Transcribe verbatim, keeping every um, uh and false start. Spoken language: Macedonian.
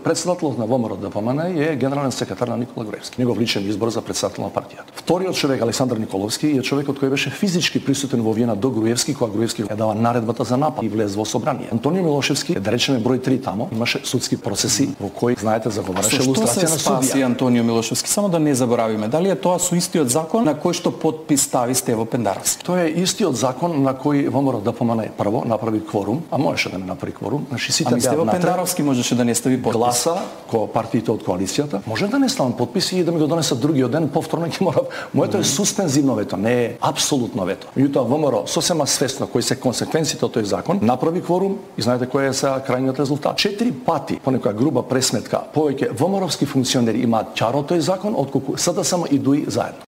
председателот на ВМРО Д П М Н е генерален секретар на Никола Груевски. Негов личен избор за председател на партијата. Вториот човек, Александар Николовски, е човекот кој беше физички присутен во Виена до Груевски, кога Груевски ја дава наредбата за напад и влез во собрание. Антонио Милошевски е, да речеме, број три тамо. Имаше судски процеси во кои, знаете, заговараше лустрација на судија. Спаси Антонио Милошевски? Само да не заборавиме, дали е тоа со истиот закон на кој што подпис стави Стево Пендаровски? Тоа е истиот закон на кој ВМРО Д П М Н прво направи кворум, а можеше да не направи кворум. Значи сите ами Стево Пендаровски можеше да не стави подпис. Гласа ко партиите од коалицијата, може да не ставам подписи и да ми го донесат другиот ден, повторно ќе мора. Моето е суспензивно вето, не е апсолутно вето. Меѓутоа ВМРО сосема свесно кои се консеквенциите од тој закон, направи кворум и знаете кој е сега крајниот резултат. Четири пати, по некоја груба пресметка, повеќе ВМРО-вски функционери имаат ќар од тој закон отколку СДСМ и ДУИ заедно.